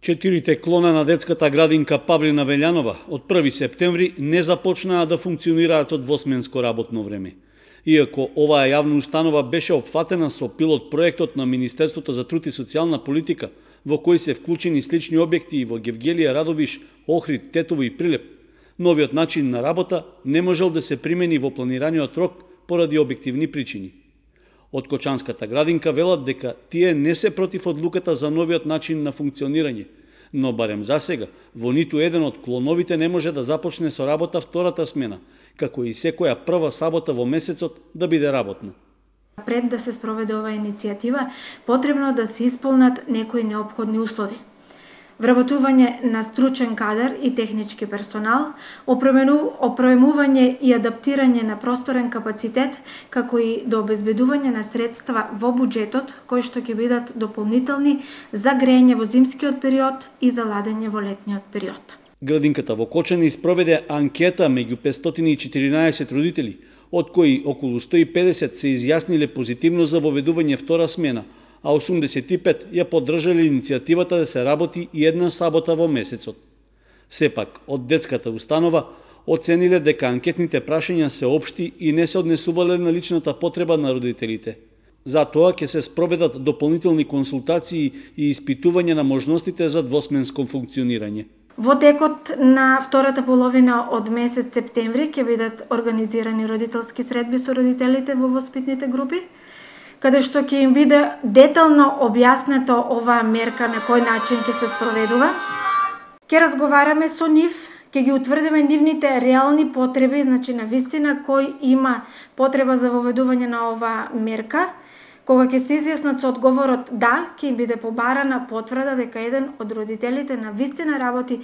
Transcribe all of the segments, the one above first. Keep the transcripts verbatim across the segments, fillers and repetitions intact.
Четирите клона на детската градинка Павлина Велјанова од први септември не започнаа да функционираат со двосменско работно време. Иако оваа јавна установа беше опфатена со пилот проектот на Министерството за труд и социјална политика, во кој се вклучени слични објекти и во Гевгелија, Радовиш, Охрид, Тетово и Прилеп, новиот начин на работа не можел да се примени во планираниот рок поради објективни причини. Од Кочанската градинка велат дека тие не се против одлуката за новиот начин на функционирање, но барем за сега во ниту еден од клоновите не може да започне со работа втората смена, како и секоја прва сабота во месецот да биде работна. Пред да се спроведе оваа иницијатива, потребно да се исполнат некои неопходни услови. Вработување на стручен кадар и технички персонал, опремување и адаптирање на просторен капацитет, како и до обезбедување на средства во буџетот, кои што ќе бидат дополнителни за грејење во зимскиот период и за ладење во летниот период. Градинката во Кочани спроведе анкета меѓу петстотини и четиринаесет родители, од кои околу сто и педесет се изјасниле позитивно за воведување втора смена, а осумдесет и пет ја поддржале иницијативата да се работи и една сабота во месецот. Сепак, од детската установа оцениле дека анкетните прашања се општи и не се однесувале на личната потреба на родителите. Затоа ќе се спроведат дополнителни консултации и испитување на можностите за двосменско функционирање. Во текот на втората половина од месец септември ќе бидат организирани родителски средби со родителите во воспитните групи, каде што ќе им биде детално објаснето оваа мерка на кој начин ќе се спроведува. Ќе разговараме со нив, ќе ги утврдиме нивните реални потреби, значи на вистина кој има потреба за воведување на оваа мерка. Кога ќе се изјаснат со одговорот да, ќе им биде побарана потврда дека еден од родителите на вистина работи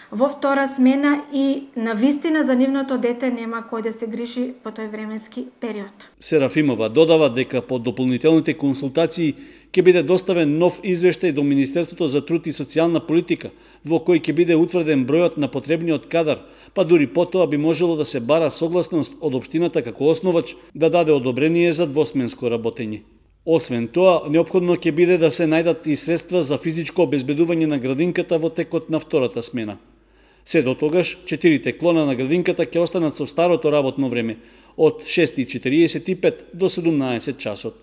во втора смена и на вистина за нивното дете нема кој да се грижи по тој временски период. Серафимова додава дека по дополнителните консултации ќе биде доставен нов извештај до Министерството за труд и социјална политика, во кој ќе биде утврден бројот на потребниот кадар, па дури потоа би можело да се бара согласност од општината како основач да даде одобрение за двосменско работење. Освен тоа, неопходно ќе биде да се најдат и средства за физичко обезбедување на градинката во текот на втората смена. Се до тогаш, четирите клона на градинката ќе останат со старото работно време од шест и четириесет и пет до седумнаесет часот.